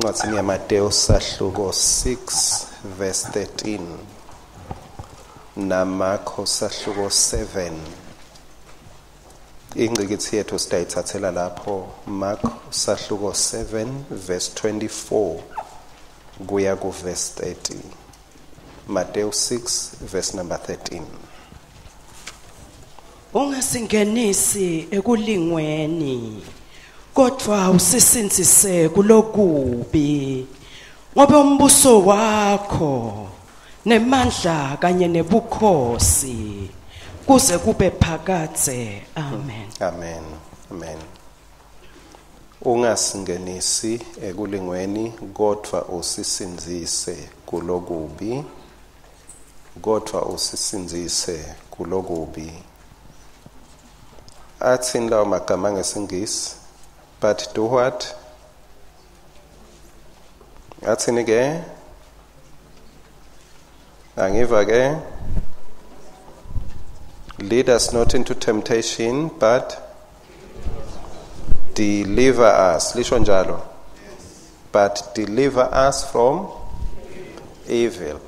Encwadzini yaMateyu sahluko 6 verse 13 naMarko sahluko 7. Ingcikitsi yethu sitayitsatsela lapho, Mark sahluko 7 verse 24 kuya ku verse 30. Mateyu 6 verse number 13. Ungasingenisi ekulingweni, kodwa usisindzise kulokubi, ngoba umbuso wakho nemandla kanye nebukhosi kuze kube phakadze. Amen. Amen. Amen. Ungasingenisi ekulingweni, kodwa usisindzise kulokubi. Kodwa usisindzise kulokubi. Athini lawo magama ngesingisi? But do what? Athini ke? Angiva ke? Lead us not into temptation, but deliver us. Lisho njalo. But deliver us from evil.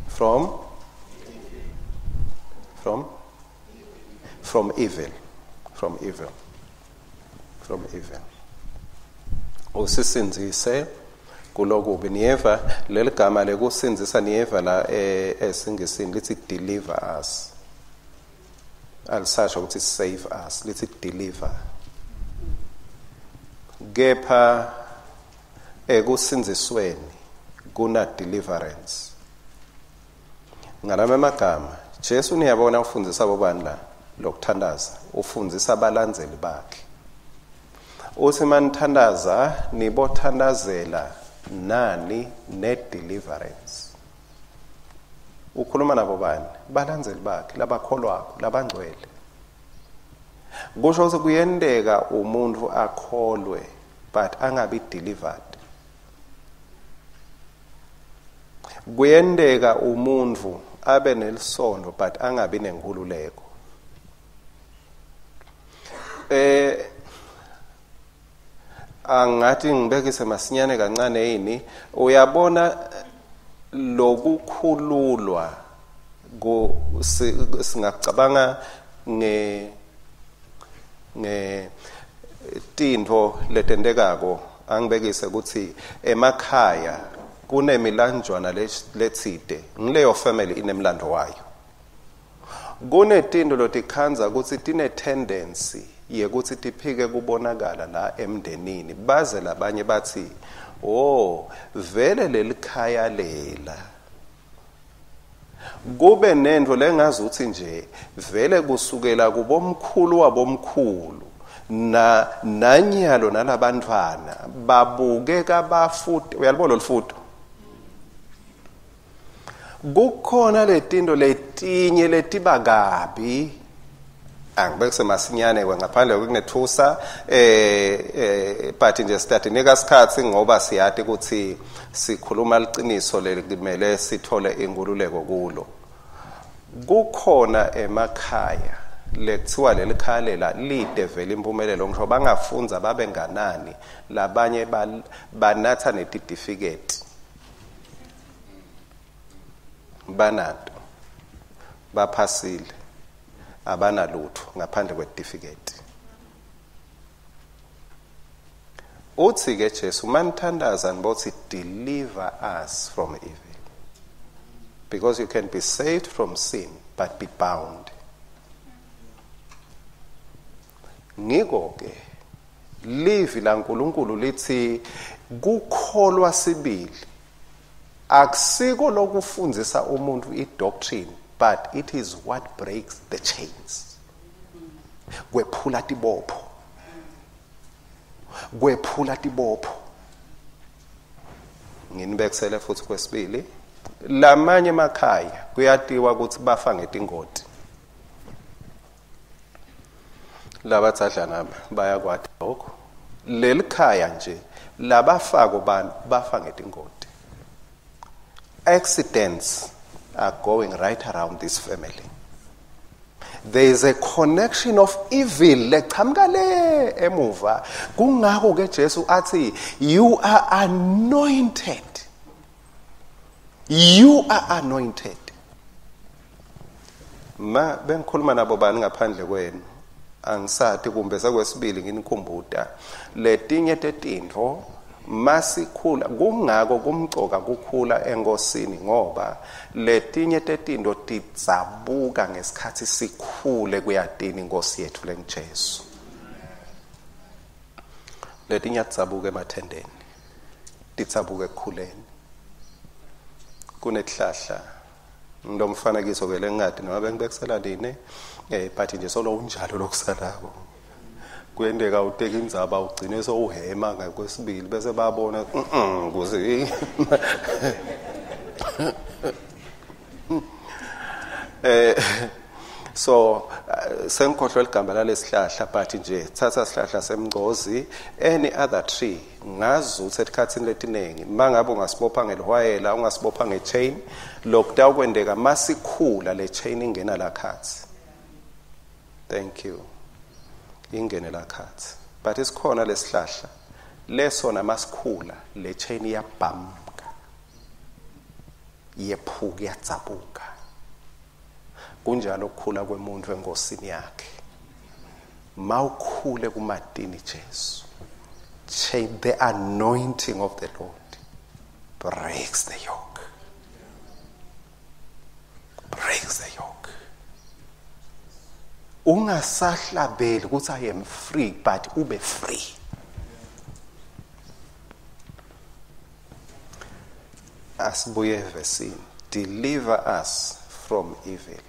From? From? From evil. From evil. From evil. Usisindzise kulokubi. Niyeva leli gama lekusindzisa, niyeva la esingisini lithi deliver us. Alisasho ukuthi save us, lithi deliver. Kepha ekusindzisweni kuna deliverance. Ngalama amagama Jesu niyabona ufundisa bobani la lokuthandaza, ufundzisa abalandzeli bakhe. Uthi manithandaza nibothandazela nani ne deliverance. Ukhuluma nabo bani? Balandzeli bakhe labakholwako, labangcwele. Kusho ukuthi kuyenteka umuntu akholwe but angabi delivered. Kuyenteka umuntu abe nelisondo but angabi nenkhululeko. Angathi ngibekise masinyane kancane yini, uyabona lokukhululwa singacabanga nge tintfo letentekako. Angibekise ukuthi emakhaya kunemilanjwana letsite, ngileyo family inemlando wayo. Kunetinto lotikhandza ukuthi tine tendency yekuthi tiphike kubonakala la emndenini, baze labanye bathi oh vele lelikhaya lela. Kube nento lengazuthi nje vele kusukela kubomkhulu wabomkhulu na nanyalo nalabantwana babukeka bafuthi. Uyalibona lolufuto? Kukhona letinto letinye letiba kabi. Angibekise masinyane ngaphandle kokunethusa but nje sitatinika isikhatsi ngoba siyati ukuthi sikhuluma liqiniso lelimele sithole inkululeko kulo. Kukhona emakhaya lekuthiwa lelikhaya lela lide vele impumelelo, ngisho bangafunza babe nganani, labanye banatha netitifiketi banato, baphasile, abanalutho ngaphandle kwetifiketi. Uthi ke Jesu manithandaza nibothi deliver us from evil, because you can be saved from sin but be bound. Ngiko ke livi laNkulunkulu lithi kukholwa sibili akusiko lokufundzisa umuntu i-doctrine, but it is what breaks the chains. Kwephula tibopho. Kwephula tibopho. Nginibekisele futhi kwesibili, lamanye emakhaya kuyatiwa ukuthi bafa ngetingoti. Labathadlana bayakwati lokho. Lelikhaya nje labafako bantu bafa ngetingoti. Accidents are going right around this family. There is a connection of evil lechamuka le emuva. Kungako ke Jesu athi you are anointed. You are anointed. Ma bengikhuluma nabo bani ngaphandle kwenu, angisathi kumbe sekwesibili nginikhumbuta letinye tetintfo masikhula. Kungako kumcoka kukhula enkosini, ngoba letinye tetintfo tidzabuka ngesikhathi sikhule kuyatini inkosi yethu lenguJesu. Letinye tidzabuka emathendeni, tidzabuka ekukhuleni. Kunetihlahla ngilomfanekiso ke lengadi noma bengibekisela line but nje solo unjalo lokusalako. Kuyenteka uteka indzaba ugcine sowuhema ngakwesibili bese babona kuze so sengikhohlwe ligama lalesihlahla, but nje thatha sihlahla semngcozi, any other tree, ngazi ukuthi esikhatsini letinengi mangabe ungasibopha ngelihwayela, ungasibopha ngechain, lokutawukwendeka masikhula le chain ingena lakhathi. Thank you. Ingene lakhathi. But isikhona lesihlahla lesona masikhula le chain iyabhamuka, iyephuka, iyadzabuka. Kunjalo ukukhula kwemuntu enkosini yakhe. Mawukhule kumatini Jesu, chain, the anointing of the Lord breaks the yoke. Breaks the yoke. Ungasahlabeli ukuthi I am free, but ube free. Asibuye evesini. Deliver us from evil.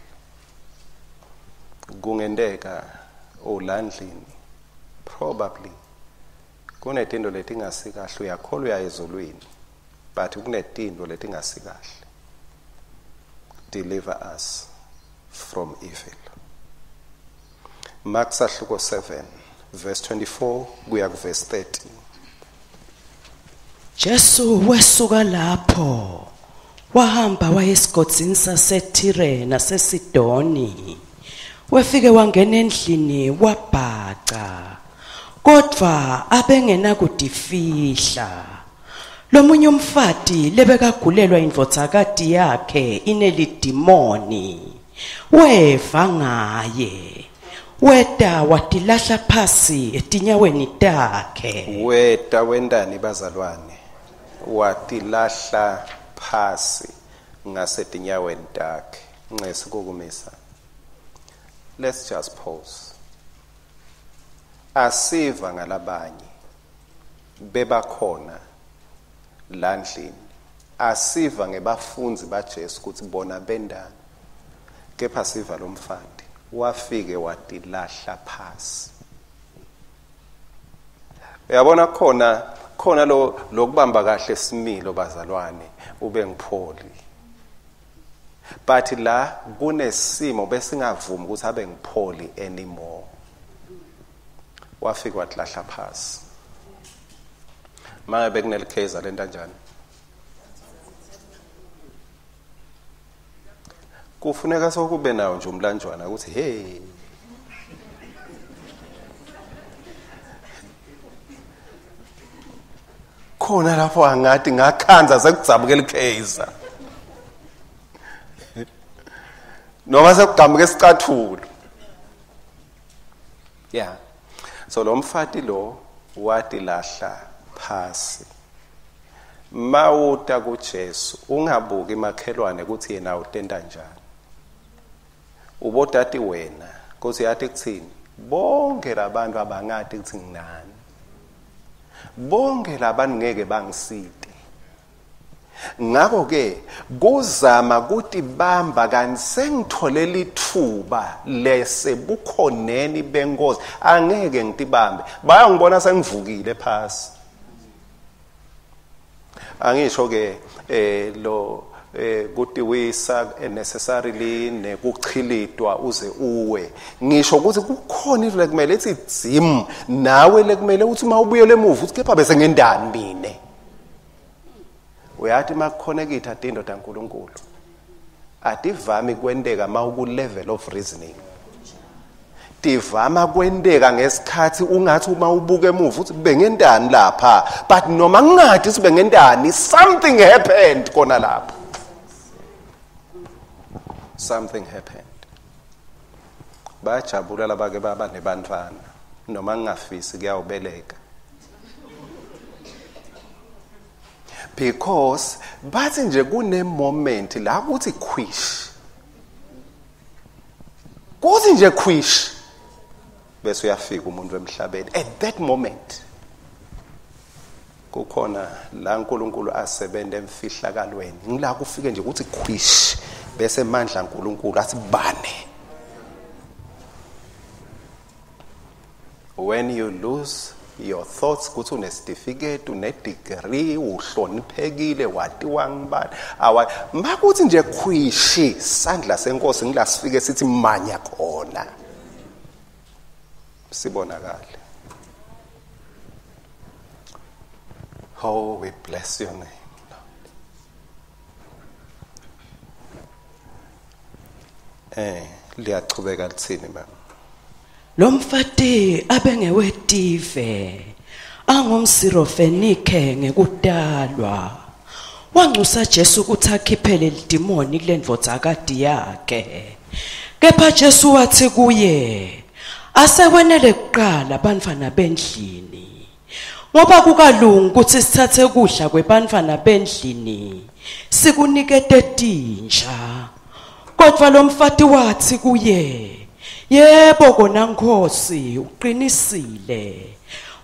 Kungenteka ulandlini, probably kunetinto letingasikahle, uyakholwa uya ezulwini, but kunetinto letingasikahle. Deliver us from evil. Mark sahluko 7 verse 24 kuya ku verse 30. Jesu wesuka lapho wahamba waya esigodzini saseThire naseSidoni. Wefike wangena endlini wabhaca, kodvwa abengenakutifihla. Lomunye umfati lebekagulelwa indvodzakati yakhe inelidimoni weva ngaye, weta watilahla phasi etinyaweni takhe. Weta wendani bazalwane? Watilahla phasi ngasetinyaweni takhe. Ncesi kokumisa. Let's just pause. Asiva ngalabanye bebakhona landlini, asiva ngebafundzi baJesu ukuthi bona bendani, kepha siva lomfati wafike watilahla phasi. Uyabona khona khona lo lokubamba kahle similo bazalwane ube ngipholi, but la kunesimo besingavumi ukuthi abe ngipholi anymore. Wafika watilahla phasi. Manje bekunelikheza lento kanjani? Kufuneka sokube nawo nje umlanjwana ukuthi hey, khona lapho angathi ngakhanza sekudzabukela ikheza noma sekugamuka isicathulo. Yeah, so lo mfati lo watilahla phasi. Mawuta kuJesu ungabuki makhelwane ukuthi yena utenda njani, ubodati wena kuthi yathi kuthini, bonke labantu abangati ukuthi nginani, bonke labantu ngeke bangisite. Ngakho ke kuzama kutibamba kanti sengitholela ithuba lesebukhoneni benkosi, angeke ngitibambe, bayangibona sengivukile phasi. Angisho ke lo kutiwisa necessarily nekuchilitwa uze uwe, ngisho ukuthi kukhona into lekumele ithi dzim nawe lekumele uthi mawubuyele emuva uthi kepha bese ngendani mine. Uyathi makukhonekitha tinto taNkuluNkulu ativami kwenteka mawuku level of reasoning. Tivama kwenteka ngesikhathi ungathi uma ubuka emuva uthi bengentani lapha, but noma ngingathi sibengentani, something happened khona lapho. Something happened. Bayajabula labake baba nebantwana noma ngingafisi kuyawubeleka, because bathi nje kune moment la kuthi khwish, kuthi nje khwish, bese uyafika umuntu emhlabeni. At that moment kukhona la uNkulunkulu asebenza emfihlakalweni, ngila kufike nje ukuthi khwish, bese mandla uNkulunkulu athi bane. When you lose your thoughts kuthi unesitifiketi, une-degree, uhloniphekile, watiwa ngibani, awa makuthi nje khwishi, sandla senkosi ngila sifike sithi manya khona, sibonakale. Oh, we bless your name, Lord. Liyachubeka lithini mama? Lo mfati abengewetive, angumSirofenike ngekutalwa. Wanxusa Jesu ukuthi akhiphele lidimoni kule ndvodzakati yakhe. Kepha Jesu wathi kuye, asekwenele kuqala bantfwana bendlini, ngoba kukalungi ukuthi sithathe kudla kwebantfwana bendlini sikunikete tinja. Kodwa lo mfati wathi kuye, yebo kona Nkosi, uqinisile,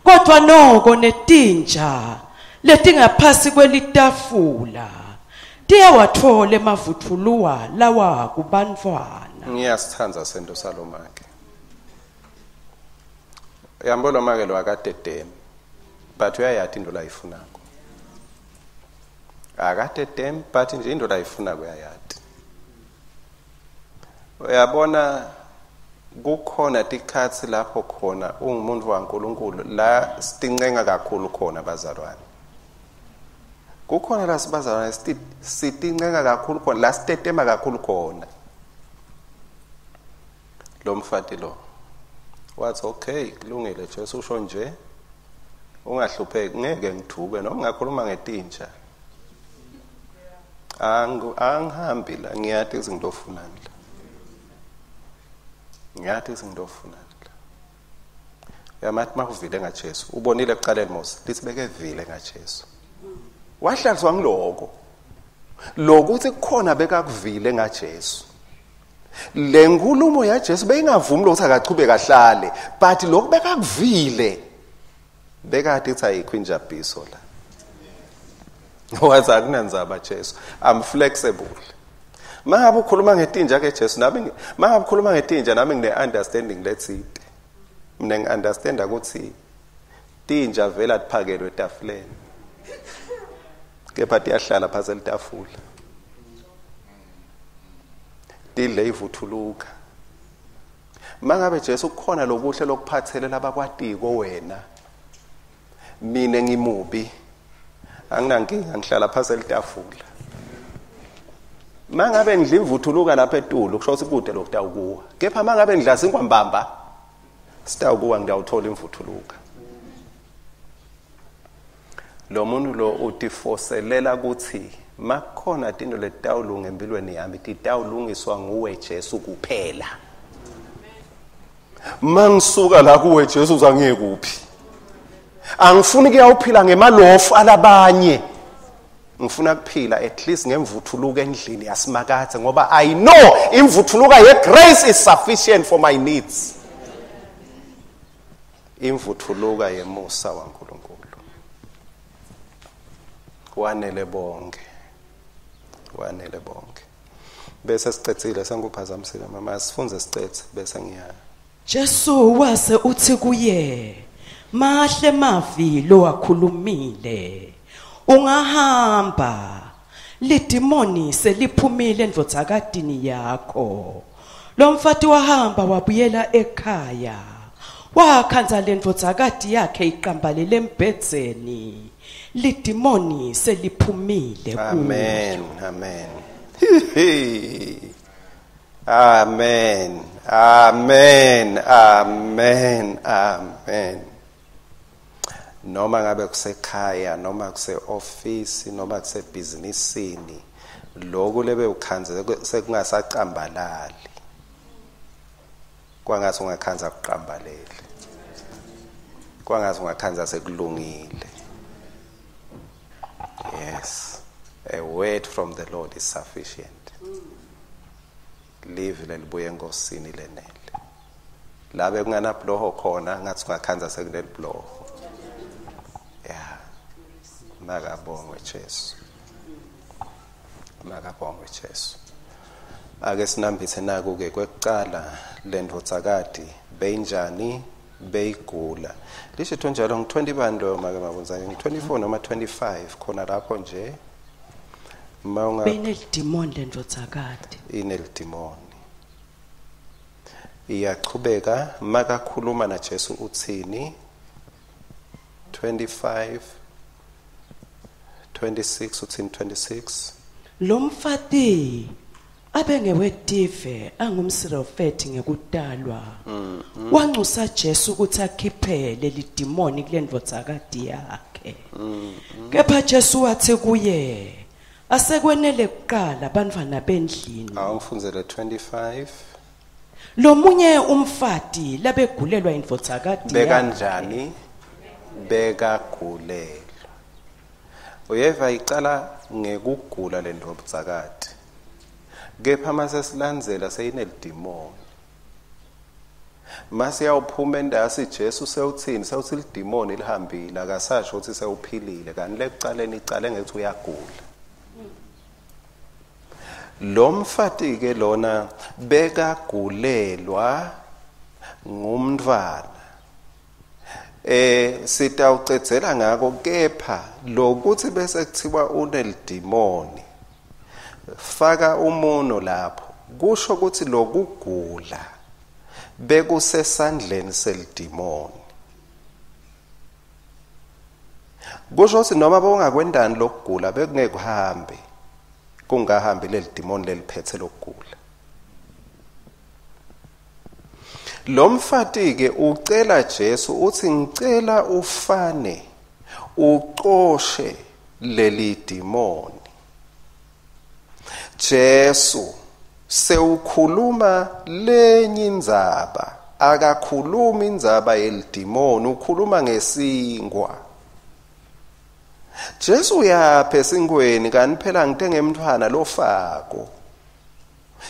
kodwa noko netinja letingaphasi kwelitafula tiyawathola emavuthuluwa lawa kubantfwana. Ngiyasithanda sento salomake. Uyambona make lo akadedemi, but uyayati into layifunako. Akadedemi, but nje into layifunako uyayati. Uyabona kukhona tikhatsi lapho khona ungumuntu waNkulunkulu la sitincenga kakhulu khona bazalwane. Kukhona la sibazalwane sitincenga kakhulu khona, la sitetema kakhulu khona. Lo mfati lo wathi okay, kulungile Jesu usho nje, ungahlupheki, ngeke ngithuke noma ngakhuluma ngetinja. Angihambi la, ngiyati ukuthi ngitofunani la. Ngiyati ukuthi ngitofunani la. Uyamathi makuvile ngaJesu, ubonile ekuqaleni Mose, lithi bekevile ngaJesu. Wahlaliswa ngiloko. Lokuthi kukhona bekakuvile ngaJesu. Le nkulumo yaJesu beyingavumi ukuthi akachubeke ahlale, but lokhu bekakuvile bekade ithi ayikho injabiso la. Wathi akunandzaba Jesu, I'm flexible. Mangabe ukhuluma ngetinja ke Jesu, nami mangabe ukhuluma ngetinja nami ngine understanding letsite. Mina ngiunderstanda ukuthi tinja vela tiphakelwe etafuleni, kepha tiyahlala phansi elitafula, tidle ivuthuluka. Mangabe Jesu kukhona lokuhle lokuphathele labakwatiko wena, mina ngimubi, anginankinga, ngihlala phansi elitafula. Mangabe ngidla imvuthuluka lapha etulo, kusho ukuthi kude lokutawukuwa. Kepha mangabe ngidla sinkwambamba, sitawukuwa, ngiyawuthola imvuthuluka. Lo muntu lo utifoselela ukuthi makukhona tinto letitawulunga empilweni yami, titawulungiswa nguwe Jesu kuphela. Mangisuka la kuwe Jesu uzangiye kuphi? Angifuni kuyawuphila ngemalofu alabanye. Ngifuna kuphila at least ngemvuthuluka endlini yasimakathe, ngoba I know imvuthuluka ye grace is sufficient for my needs. Imvuthuluka yemusa waNkulunkulu wanele bonke, wanele bonke. Bese sicethile, senguphazamisile mama, sifunze sicethe bese ngiya. Jesu wase uthi kuye, mahle mavi lo wakhulumile, ungahamba, lidimoni seliphumile endvodzakatini yakho. Lo mfati wahamba wabuyela ekhaya, wakhandza lendvodzakati yakhe iqambalele embhedzeni, lidimoni seliphumile kuyo. Amen, amen. Amen. Amen. Amen. Amen. Noma ngabe kusekhaya, noma kuse-ofisi, noma kusebhizinisini, lokhu lebe ukhanze sekungasacambalali. Kwangathi ungakhanza kuqambalele. Kwangathi ungakhanza sekulungile. Yes. A word from the Lord is sufficient. Live lelibuye enkosini lenele. Labe kunganabhuloho khona ngathi ungakhanza sekunelibhuloho. Yeah. Makabongwe Jesu. Makabongwe Jesu. Ake sinambithe naku ke kwekucala lendvodzakati beyinjani beyigula. Lisho njalo ngi20 bani make mabunza ngi24 noma 25 khona lapho nje. Mawunga Benelidimoni lendvodzakati. Inelidimoni. Iyachubeka makakhuluma na Jesu uthini 25 26 uthini 26. Lo mfati abengewetive angumsirofethi ngekutalwa. Wanxusa Jesu ukuthi akhiphe leli dimoni kulendvodzakati yakhe. Kepha Jesu wathi kuye, asekwenele kuqala bantwana bendlini. Awungifundzele 25. Lomunye umfati labegulelwa indvodzakati yakhe. Bekanjani? Bekagulelwa. Uyeva icala ngekugula lendvodzakati. Kepha mase silandzela seyinelidimoni. Mase yawuphuma endasi Jesu sewuthini sewuthi lidimoni lihambile akasasho ukuthi sewuphilile kanti lekucaleni icale ngethi uyagula. Lo mfati ke lona bekagulelwa ngumntwana. Sitawucedzela ngako kepha lokuthi bese kuthiwa unelidimoni faka umuno lapho kusho ukuthi lokugula bekusesandleni selidimoni. Kusho ukuthi noma bongakwendani lokugula bekungeke kuhambe kungahambi lelidimoni leliphethe lokugula. Lo mfati ke ucela Jesu uthi ngicela ufane ucoshe leli dimoni. Jesu sewukhuluma lenye indzaba, akakhulumi indzaba yelidimoni, ukhuluma ngesingwa. Jesu uyapha esingweni kanti phela ngite ngemntwana lofako.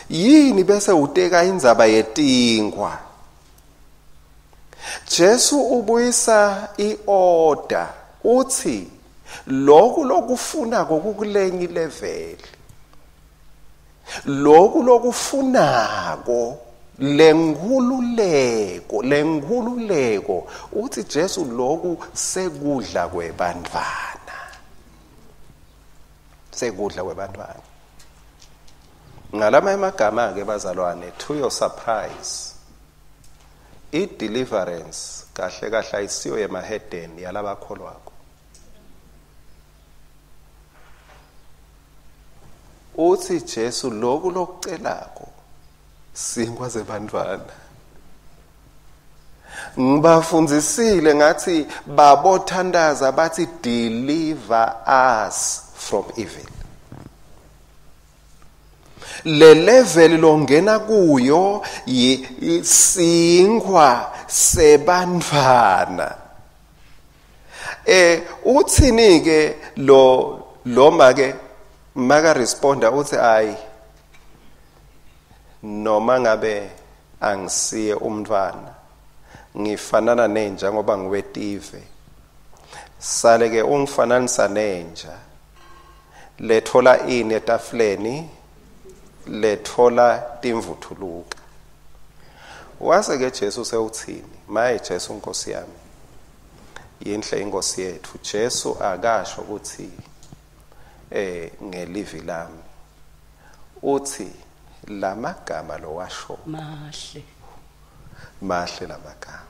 Yini bese uteka indzaba yetingwa? Jesu ubuyisa iorder uthi lokhu lokufuna kokukulenye level. Lokhu lokufunako lenkhululeko uthi Jesu lokhu sekudla kwebantwana. Sekudla kwebantwana. Ngalama emagama ke bazalwane, to your surprise, i deliverance kahle kahle ayisiyo yemahedeni yalabakholwako. Uthi Jesu lokhu lokucelako sinkwa zebantwana. Ngibafundzisile ngathi babothandaza bathi deliver us from evil. Le level longena kuyo isinkwa sebantwana. Uthini ke lo make maka responda uthi ayi noma ngabe angisiye umntwana ngifanana nenja ngoba ngiwetive, sale ke ungifananisa nenja lethola ini etafuleni lethola timvuthuluka. Wase ke Jesu sewuthini? Maye Jesu Nkosi yami, yinhle inkosi yethu. Jesu akasho ukuthi ngelivi lami, uthi lamagama lowasho mahle mahle lamagama.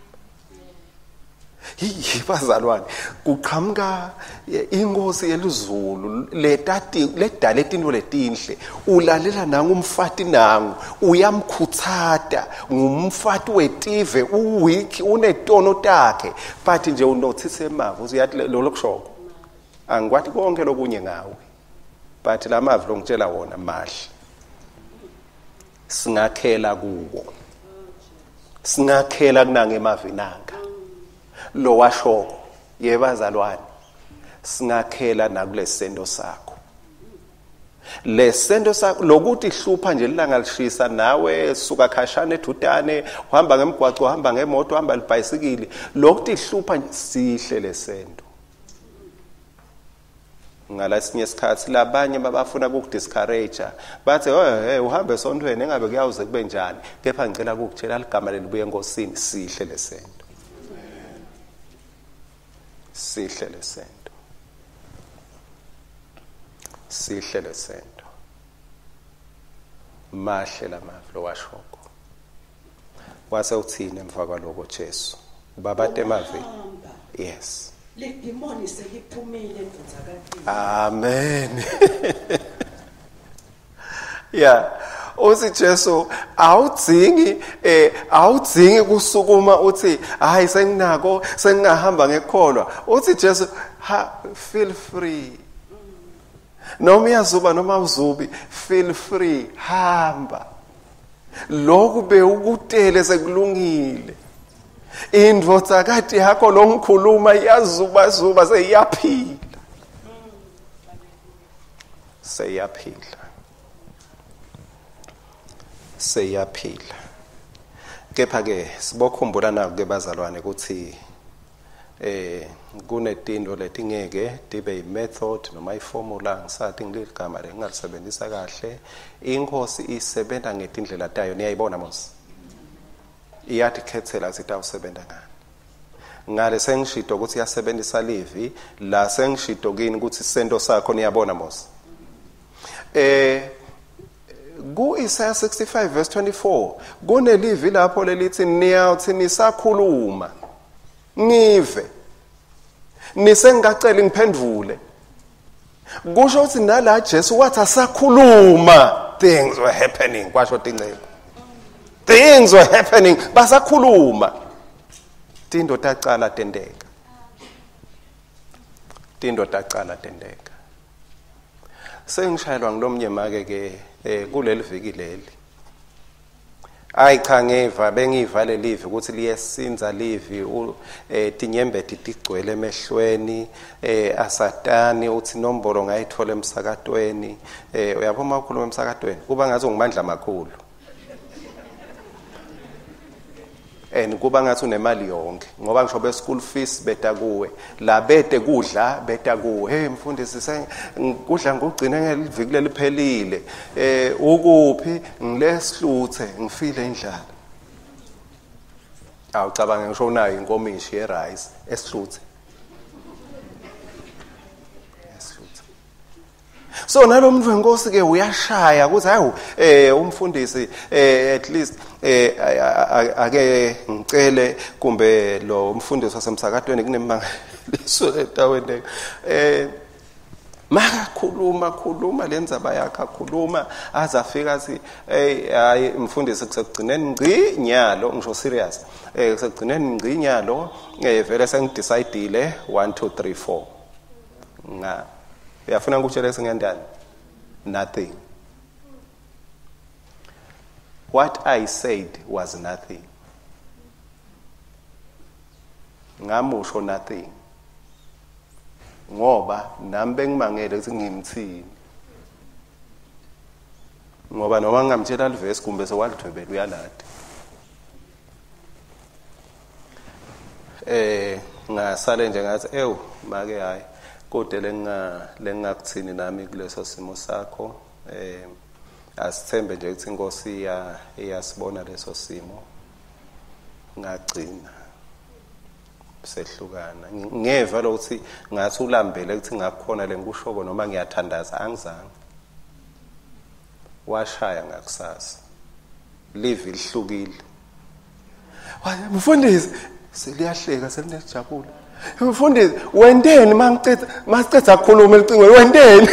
Bazalwane, kuqhamuka inkosi yelizulu letati ledala itinto letinhle, ulalela nangu umfati nangu uyamkhutsata, ngumfati wetive, uweak, unetono takhe, but nje unothise emavi uyathi lo lokushoko angikwati konke lokunye ngawe, but lamavi longitshela wona mahle, singakhela kuwo, singakhela kunange emavi nanga lo washoko. Yebazalwane, singakhela nakulesento sakho, lesento sakho lokuthi hlupha nje ilanga lishisa nawe suka khashana edudane, uhamba ngemgwaco, uhamba ngemoto, uhamba libhayisikili, lokuthi hlupha sihle lesento. Ngalesinye isikhathi labanye babafuna ukudiscourage, bathi oh hey uhambe esontweni engabe kuyawuze kube njani, kepha ngicela ukukutshela ligama lelibuye enkosini, sihle lesento, sihle lesento, sihle lesento. Mahle lamavi lowashoko. Wase uthini emva kwaloko Jesu? Ubabate emavi. Yes. Lidimoni seliphumile endvodzakatini. Amen. Yeah. Uthi Jesu awudzingi awudzingi kusukuma uthi hayi senginako sengingahamba ngekholwa. Uthi Jesu ha, feel free. Noma uyazuba noma uzubi, feel free, hamba. Lokhu bewukutele sekulungile. Indvodzakati yakho longikhuluma iyazuba zuba seyiyaphila. Seyiyaphila. Seyiyaphila. Kepha ke sibokhumbula naku ke bazalwane ukuthi kunetinto letingeke tibe imethod noma iformula, ngisathi ngiligama lengingalisebenzisa kahle. Inkosi isebenza ngetindlela tayo, niyayibona mos. Iyatikhethela sitawusebenza ngani. Ngale sengishito ukuthi iyasebenzisa livi, la sengishito kini ukuthi sento sakho niyabona mos. Ku Isaiah 65 verse 24 kunelivi lapho lelithi niyawuthi nisakhuluma ngive nisengacela ngiphendvule. Kusho ukuthi nala Jesu wathi asakhuluma things were happening, kwasho tinceku. Things were happening, basakhuluma. Tinto tacala tenteka. Tinto tacala tenteka. Sengishayelwa ngilomnye make ke kuleli viki leli. Ayi cha ngeva bengiva lelivi ukuthi liyesinza livi, tinyembeti tigcwele emehlweni, asatani uthi nombolo ngayithola emsakatweni. Uyabona ukhuluma emsakatweni kuba ngathi ungimandla amakhulu. And kuba ngathi unemali yonke ngoba ngisho be school fees beta kuwe, la bete kudla beta kuwe. Hey mfundisi kudla ngugcine ngeliviki leliphelile, ukuphi ngilesihluthe ngifile indlala. Awucabange ngisho unayo inkomishi ye rice esihluthe. So nalomuntu wenkosi ke uyashaya ukuthi hawu umfundisi at least ake ngicele kumbe lo umfundisi wasemsakatweni kunemangaliso etawendeka. Makakhuluma khuluma lenzaba yakhe akhuluma azafika athi hey hayi mfundisi kusekugcineni ngci nyalo, ngisho serious, kusekugcineni ngci nyalo, vele sengidecidile 1 2 3 4. Nga uyafuna ngikutshele singentani? Nothing. What I said was nothing. Ngamusho nothing. Ngoba nami bengimangele ukuthi ngimthini. Ngoba noma ngingamtshela livesi kumbe sewalidwebela uyalada. Ngasale nje ngathi ewu make hayi kodwa lengingakuthini nami kuleso simo sakho. Asithembe nje ukuthi inkosi iyasibona leso simo. Ngagcina sehlukana. Ngeva lokuthi ngathi ulambele ukuthi ngakukhona lengikushoko noma ngiyathandaza, angizange. Washaya ngakusasa livi lihlukile. Mfundisi Seliyahleka selinejabula. Mfundisi, wenteni mangicetha masicetha ukukhuluma elicingweni, wenteni?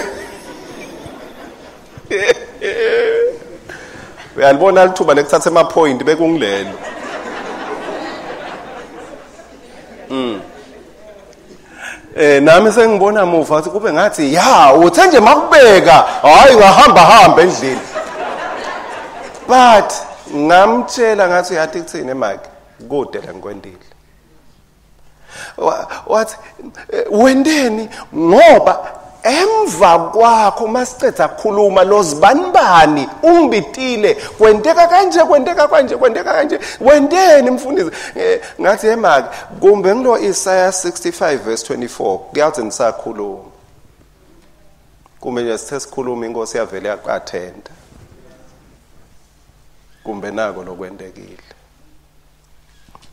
Uyalibona lithuba lekuthatha ema point bekungilelo. Nami sengibona muva ukuthi kube ngathi ya uthe nje makubeka, hayi ngahamba hamba endlini. But ngamtshela ngathi uyathi kuthini mike, kude la ngikwendile. Wathi wendeni ngoba emva kwakho masicetha ukukhuluma lozibanibani ungibitile, kwenteka kanje kwenteka kanje kwenteka kanje, wendeni mfundisi? Ngathi emake kumbe ngilo Isaiah 65 verse 24 kuyathi nisakhuluma. Kumbe nje sithe sikhuluma inkosi yavele yaqathenda. Kumbe nako lokwentekile.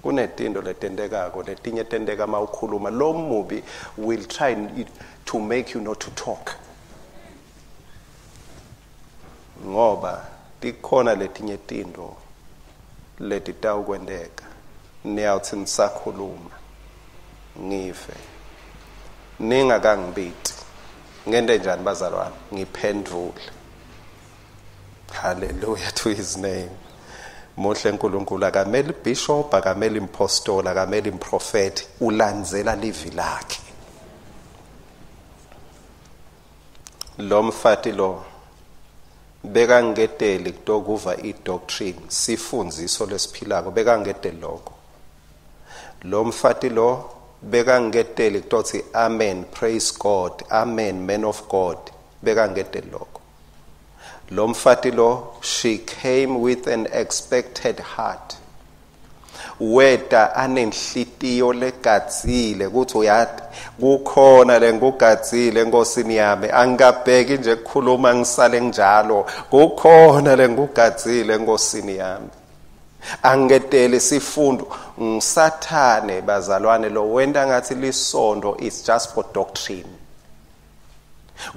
Kunetindo letentekako, letinye tenteka mawukhuluma. Lo mubi will try to make you not to talk. Ngoba tikhona letinye tindo letitawukwenteka. Niyawuthi nisakhuluma ngive ningakangibiti. Ngente njani bazalwane? Ngiphendvule. Hallelujah to his name. Muhle uNkulunkulu, akameli bishop, akameli impostola, akameli improfeti, ulandzela livi lakhe. Lo mfati lo bekangeteli kutokuva i-doctrine, sifundziso lesiphilako, bekangete lokho. Lo mfati lo bekangeteli kutothi amen, praise God, amen, man of God, bekangete lokho. Lo mfati lo, she came with an expected heart. Weta anenhlitiyo legadzile ukuthi uyati kukhona lengugadzile enkosini yami, angikabheki nje ukukhuluma ngisale njalo, kukhona lengugadzile enkosini yami. Angetele sifundo ngisathane bazalwane lo wenta ngathi lisondo is just for doctrine.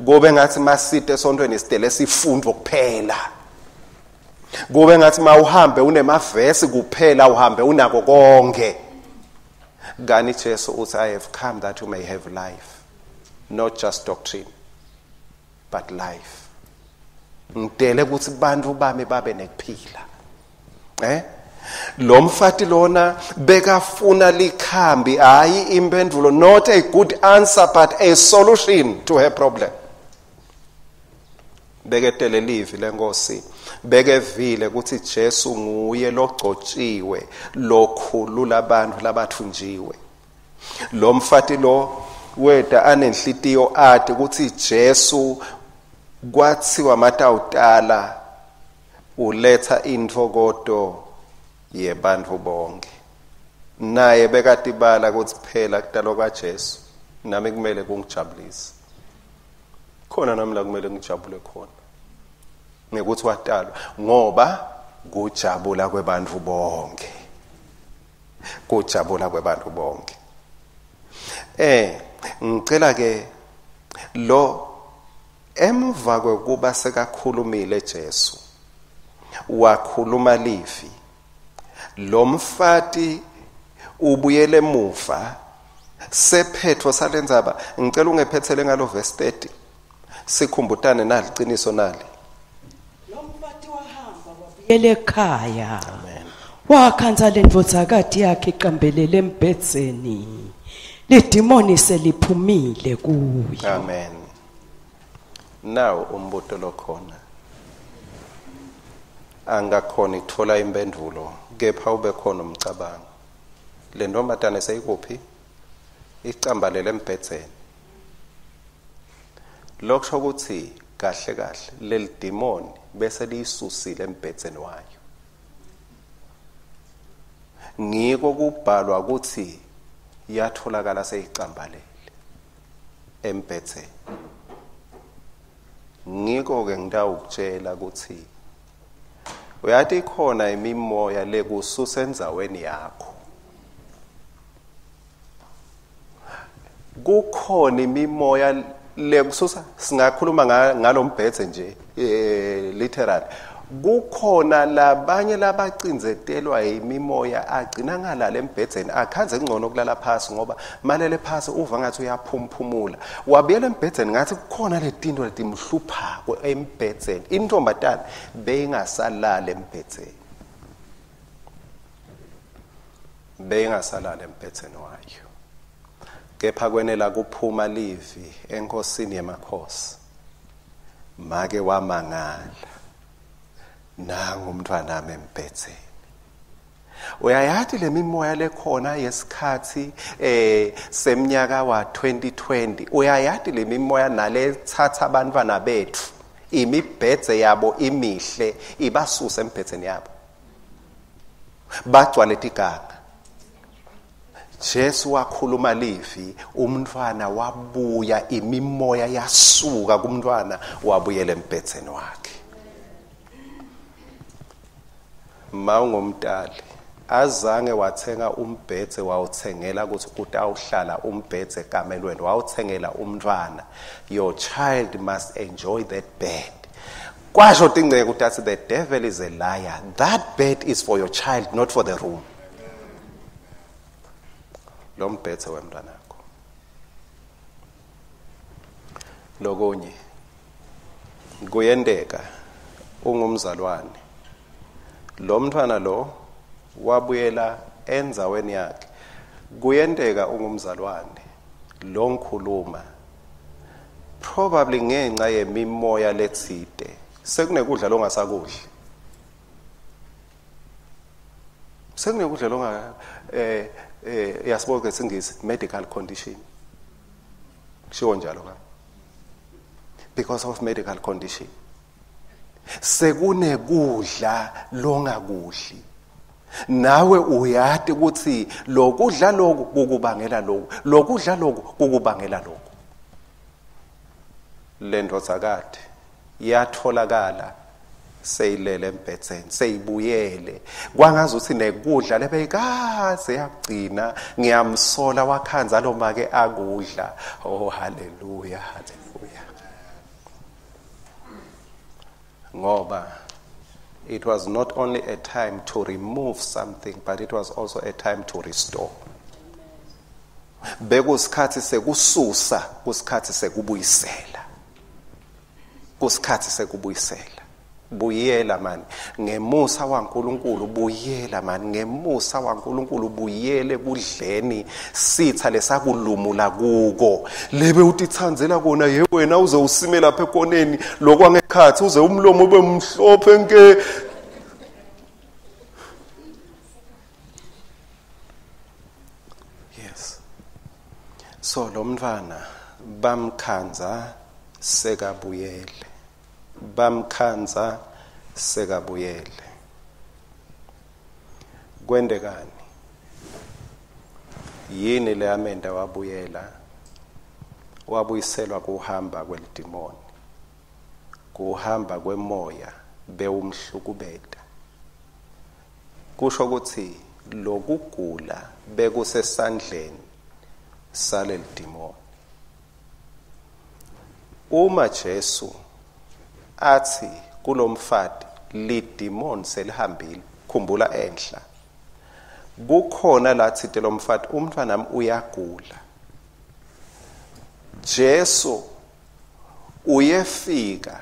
Kube ngathi masite esontweni sidele sifundo kuphela. Kube ngathi mawuhambe unemavesi kuphela, uhambe unako konke. Kani Jesu uthi I have come that you may have life, not just doctrine but life. Ngidele ukuthi bantu bami babe nekuphila. Lo mfati lona bekafuna likhambi, hayi impendulo, not a good answer but a solution to her problem. Beketele livi lenkosi, bekevile ukuthi Jesu nguye logcotshiwe lokhulula abantu labathunjiwe. Lo mfati lo weda anenhlitiyo ati ukuthi Jesu kwathiwa matawutala uletha intfokoto yebantu bonke. Naye bekatibala ukuthi phela kutalwa kwaJesu nami kumele kungijabulise. Khona nami la kumele ngijabule khona ngekuthi watalwa, ngoba kujabula kwebantu bonke, kujabula kwebantu bonke. Ngicela ke lo emva kwekuba sekakhulumile Jesu wakhuluma livi, lo mfati ubuyele emuva sephetho salendzaba. Ngicela ungephethele ngalo verse 30 sikhumbutane naliqiniso nali. Lo mfati wahamba wabuyela ekhaya. Amen. Wakhanza lendvodzakati yakhe iqambelele embhedzeni, lidimoni seliphumile kuyo. Amen. Now umbuto lokhona angakhona ukuthola impendulo, kepha ube khona umcabango. Le ntombazane seyikuphi? Icambalele embhedzeni. Lokusho ukuthi kahle kahle leli demoni bese liyisusile embhedzeni wayo. Ngiko kubhalwa ukuthi yatholakala seyicambalele embhedzeni. Ngiko ke ngitawukutshela ukuthi uyathi khona imimoya lekususa endzaweni yakho. Kukhona imimoya lekususa, singakhuluma ngalombhedze nje literally. Kukhona labanye labacindzetelwa imimoya agcina ngalala embhedzeni, akhanze kungcono kulala phasi ngoba malele phasi uva ngathi uyaphumphumula. Wabuyela embhedzeni ngathi kukhona letinto letimhluphako embhedzeni. Intombatana beyingasalala embhedzeni. Beyingasalala embhedzeni wayo. Kepha kwenela kuphuma livi enkosini yemakhosi. Make wamangala. Nangu umntwana wami embhedzeni. Uyayati lemimoya lekhona yesikhathi semnyaka wa 2020. Uyayati lemimoya nalethatha abantwana bethu, imibhedze yabo imihle ibasuse embhedzeni yabo. Bagcwale tiganga. Jesu wakhuluma livi, umntwana wabuya, imimoya yasuka kumntwana wabuyela embhedzeni wakhe. Mawungumdali azange wathenga umbhedze wawuthengela ukuthi utawuhlala umbhedze ekamelweni, wawuthengela umntwana. Your child must enjoy that bed. Kwasho tingceke ukuthi the devil is a liar. That bed is for your child, not for the room. Lo mbhedze wemntwanakho. Lokunye kuyenteka ungumzalwane, lo mntwana lo wabuyela endzaweni yakhe. Kuyenteka ungumzalwane lo ngikhuluma probably ngenxa yemimoya letsite sekunekudla longasakudli, sekunekudla longa yasiboke singisi medical condition, kushiwo njalo ka because of medical condition sekunekudla longakudli. Nawe uyati ukuthi lokudla lokhu kukubangela lokhu, lokudla lokhu kukubangela lokhu. Le ndvodzakati yatholakala seyilele embhedzeni, seyibuyele kwangazuthi nekudla lebeyikaze yakugcina. Ngiyamsola wakhanza lo make akudla. Oh haleluya, haleluya. Ngoba it was not only a time to remove something, but it was also a time to restore. Bekusikhathi sekususa, kusikhathi sekubuyisela. Kusikhathi sekubuyisela. Buyela mani ngemusa waNkulunkulu, buyela mani ngemusa waNkulunkulu, buyele kudleni sitha lesakulumula kuko. Lebe utitsandzela kona ye wena, uze usime lapha ekoneni lokwangekhathi, uze umlomo ube mhlophe nke. Yes. So lo mntwana bamkhanza sekabuyele. Bamkhanza sekabuyele. Kwendekani? Yini leyamenda wabuyela? Wabuyiselwa kuhamba kwelidimoni, kuhamba kwemoya bewumhlukubeta. Kusho ukuthi lokugula bekusesandleni salelidimoni. Uma Jesu athi kulomfati lidimoni selihambile, khumbula enhla kukhona lathi lomfati umntwana uyagula. Jesu uyefika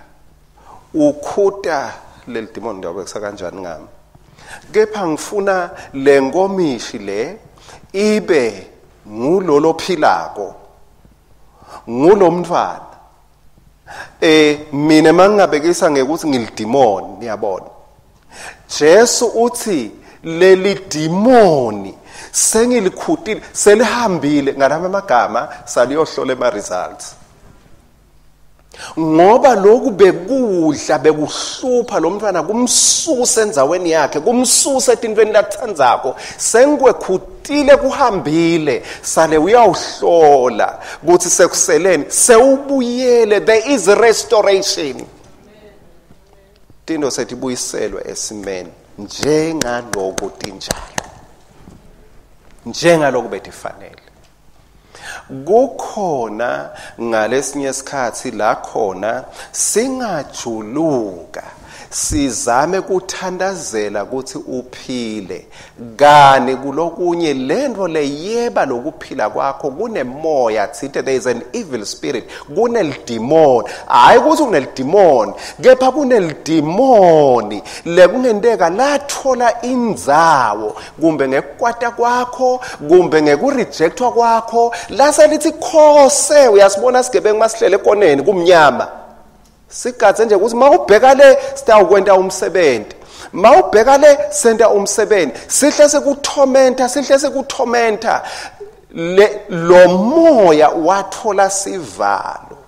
ukhuta lelidimoni, ndiyobekisa kanjani ngami, kepha ngifuna lenkomishi le ibe ngulolo philako, ngulomntwana. Mina mangingabekisa ngekuthi ngilidimoni, niyabona. Jesu uthi leli dimoni sengilikhutile, selihambile. Ngalama amagama saliyohlola ema results. Ngoba lokhu bekudla bekuhlupha lo mntwana, kumsusa endzaweni yakhe, kumsusa etintweni lathandzako. Sengikwekhutile, kuhambile, sale uyawuhlola ukuthi sekuseleni, sewubuyele. There is restoration. Tinto setibuyiselwe esimeni njengaloku tinjalo, njengaloku betifanele. Kukhona ngalesinye isikhathi la khona singajuluka Sizame kuthandazela ukuthi uphile kani kulokunye lento leyeba lokuphila kwakho kunemoya thinte. There is an evil spirit, kunelidimoni. Hayi ukuthi kunelidimoni, kepha kunelidimoni lekungenteka lathola indzawo kumbe ngekukwata kwakho kumbe ngekurejectwa kwakho, lase lithi khose. Uyasibona sigebengu masihlele ekoneni kumnyama, sigadze nje ukuthi mawubheka le sitawukwenta umsebenzi, mawubheka le senta umsebenzi, sihle sekuthomenta, sihle sekuthomenta. Lo moya wathola sivalo.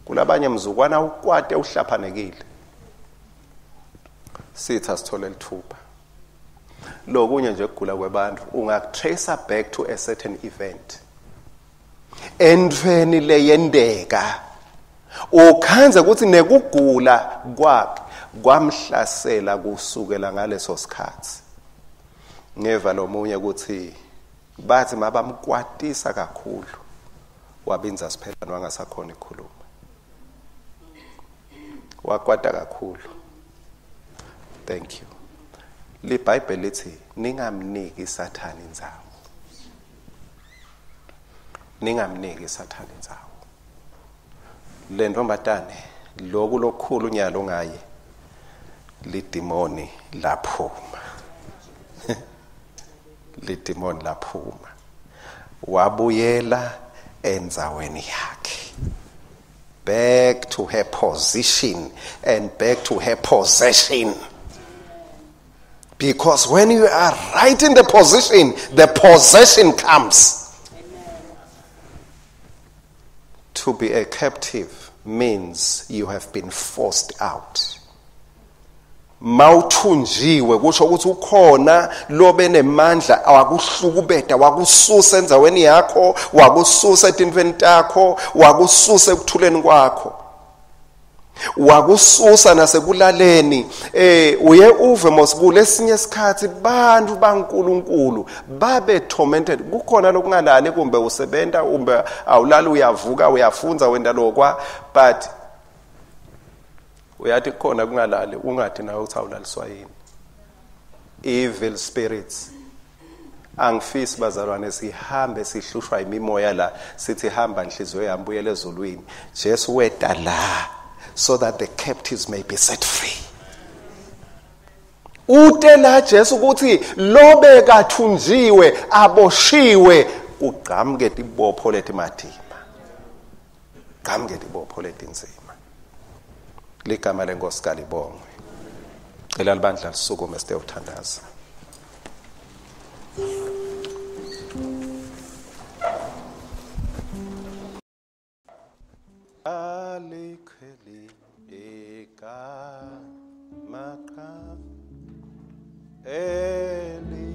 Kulabanye mzukwana ukwate uhlaphanekile, sitha sithole lithuba. Lokunye nje kugula kwebantu ungakutrace back to a certain event entweni leyendeka, ukhanze ukuthi nekugula kwakhe kwamhlasela kusukela ngaleso sikhathi. Ngeva lomunye ukuthi bathi mabamkwatisa kakhulu wabinza siphela wangasakhona ukukhuluma, wakwata kakhulu. Thank you. LiBhayibheli lithi ningamniki Sathane indzawo, ningamniki Sathane indzawo. Le ntombazane loku lokukhulu nyalo ngaye lidimoni laphuma. Lidimoni laphuma, wabuyela endzaweni yakhe, back to her position and back to her possession. Because when you are right in the position, the possession comes. To be a captive means you have been forced out. Mawuthunjiwe kusho ukuthi ukhona lobe nemandla awakuhlukubeta, wakususa endzaweni yakho, wakususa etintfweni takho, wakususa ekuthuleni kwakho, wakususa nasekulaleni. Uye uve mos kulesinye isikhathi bantu baNkulunkulu babe tormented. Kukhona lokungalali, kumbe usebenta kumbe awulali, uyavuka uyafunza wenda lokwa, but uyathi kukhona kungalali, ungathi nawe uthi awulaliswa yini. Evil spirits. Angifisi bazalwane sihambe sihlushwa imimoya la, sithi hamba inhliziyo yami buyele ezulwini. Jesu weta la so that the captives may be set free. Ute la Jesu ukuthi lobe kathunjiwe aboshiwe kugqamke tibopho letimatima, gqamke tibopho letinzima. Ligama lenkosi kalibongwe. Cela libandla lisukume sitewuthandaza. Alikheli igama eli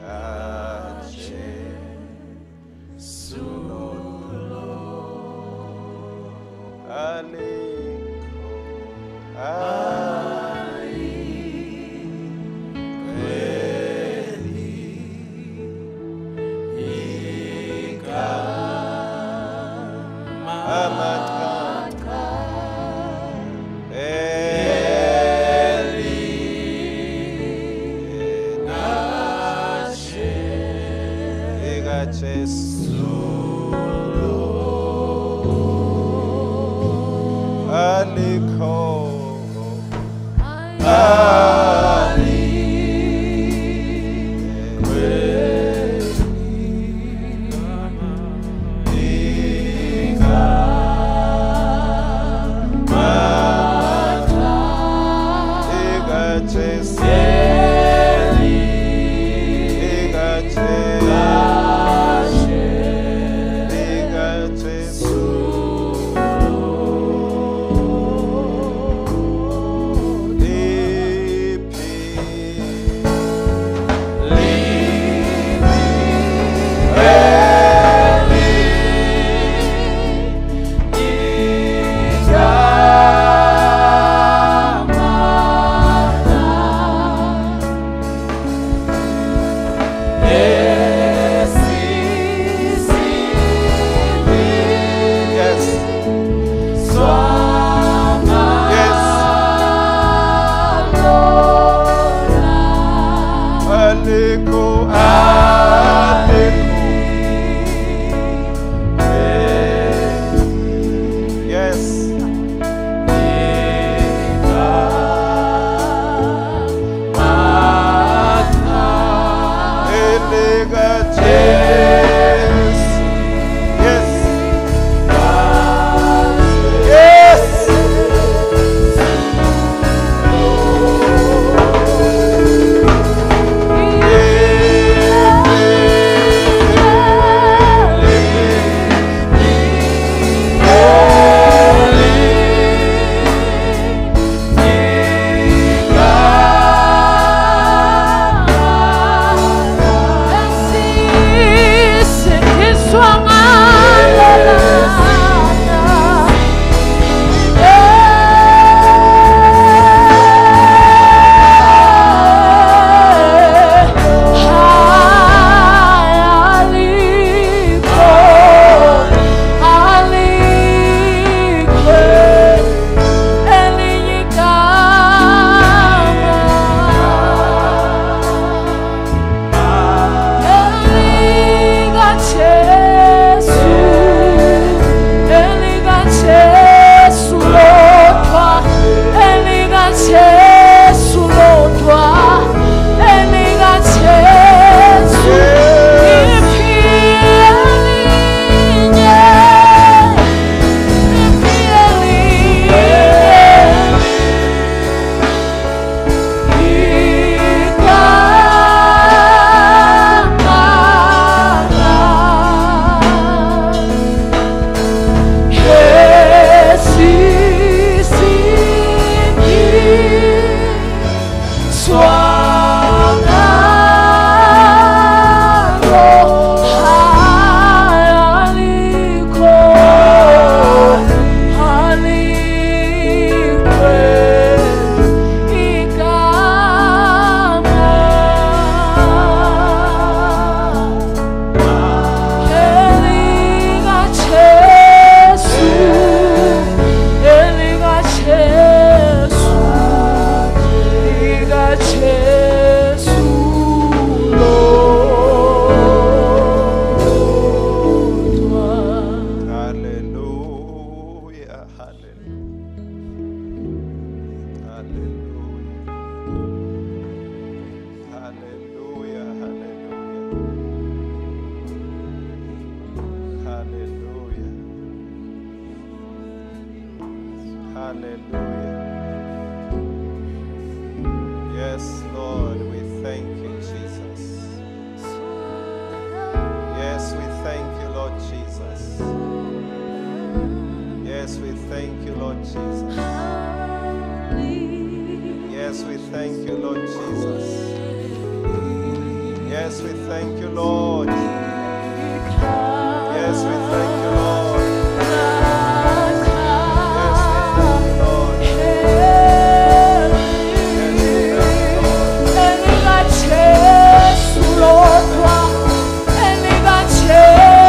kaJesu, alikho alikheli igama Jesu, alikho alikheli igama Hallelujah. Yes, Lord, we thank you, Jesus. Yes, we thank you, Lord Jesus. Yes, we thank you, Lord Jesus. Yes, we thank you, Lord Jesus. Yes, we thank you, Lord. Yes, we thank you, Lord. Yes, we thank you, Lord.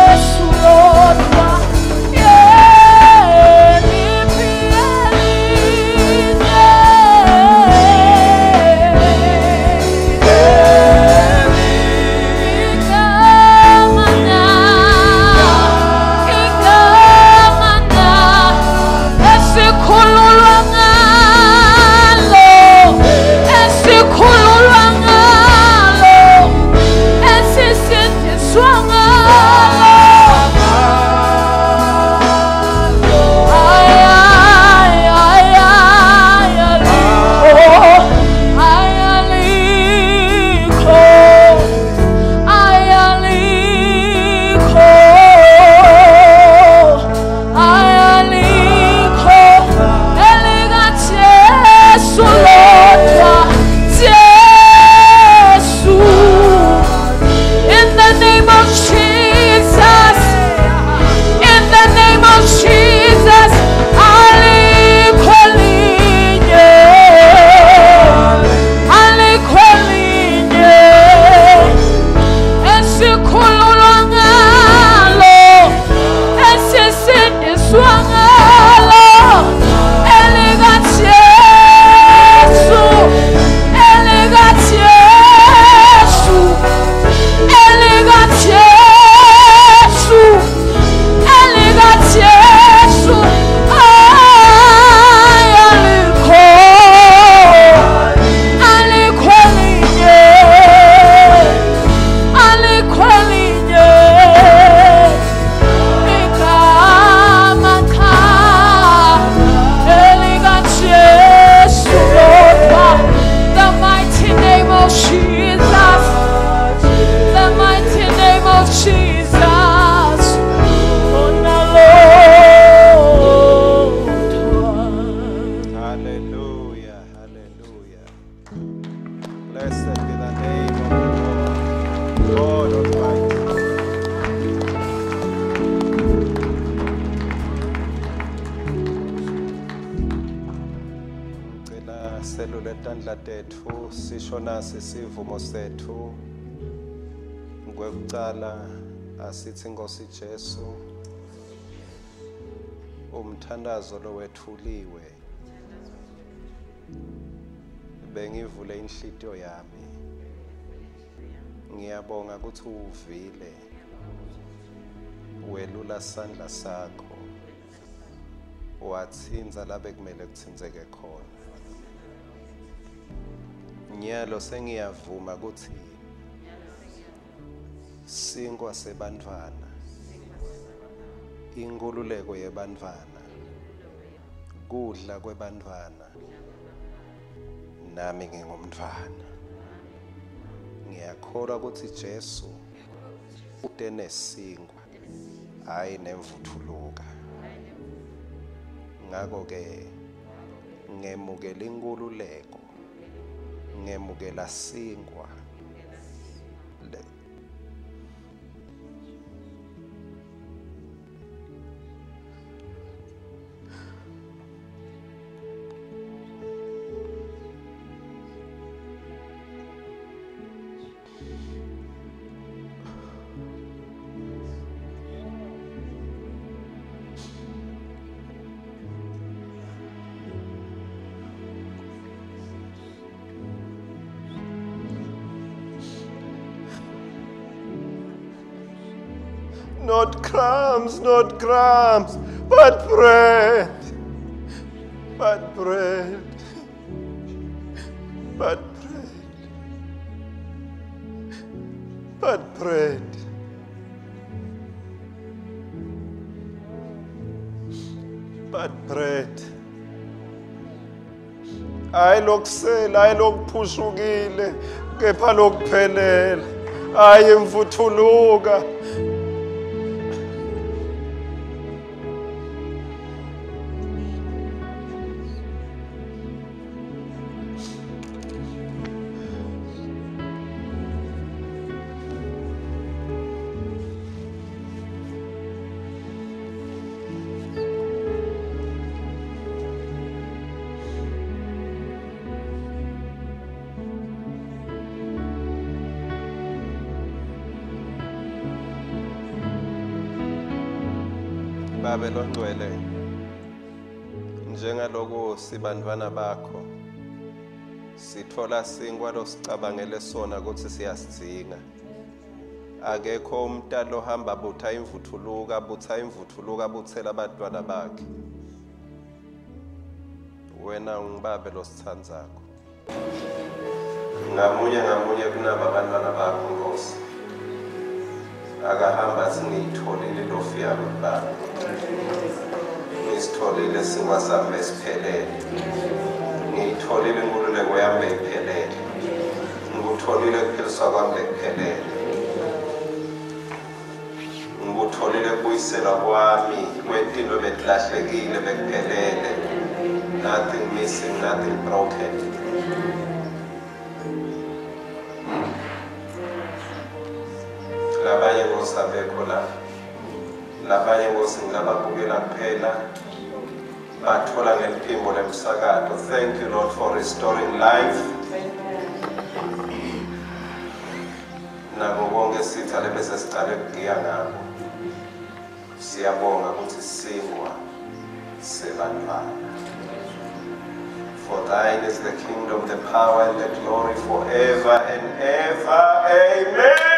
Yes, we thank you, Lord. Blessed be the name of the Lord, God Almighty. Ngicela selule tandla tetfu sisho nasi sivumo setfu. Kwekucala asithi Nkosi Jesu, umthandazo lowethuliwe bengivule inhlitiyo yami. Ngiyabonga ukuthi uvile, welula sandla sakho, watsinza labe kumele kutsinzeke khona. Nyalo sengiyavuma ukuthi sinkwa sebantfwana, inkululeko yebantfwana, kudla kwebantfwana, nami ngingumntfwana. Ngiyakholwa ukuthi Jesu ute nesinkwa, hayi nemvuthuluka. Ngakho ke ngemukela inkululeko, ngemukela sinkwa. Not crumbs, not crumbs, but bread, but bread, but bread, but bread. But bread. Hayi lokusela, hayi lokuphushukile, kepha lokuphelele. Hayi imvuthuluka. Babe longcwele, njengaloku sibantwana bakho sithola sinkwa losicabangele sona ukuthi siyasidzinga. Akekho umntana ohamba butha imvuthuluka, butha imvuthuluka, buthela abantwana bakhe. Wena ungibabe losithandzakho. Ngamunye ngamunye kunaba abantwana bakho Nkosi. Akahamba athi ngiyitholile ilofu yami Baba. Ngisitholile sinkwa sami esiphelele. Ngiyitholile inkululeko yami iphelele. Ngikutholile ukuphiliswa kwami bekuphelele. Ngikutholile kubuyiselwa kwami kwetinto betilahlekile bekuphelele. Nothing missing, nothing broken. Labanye Nkosi abekho la. Labanye Nkosi ngilababukela kuphela. Bathola ngeliphimbo lemsakato. Thank you Lord for restoring life. Nako konke sitha lebese sicale kugiya ngako. Siyabonga ukuthi sinkwa sebantwana. For thine is the kingdom, the power, and the glory forever and ever. Amen.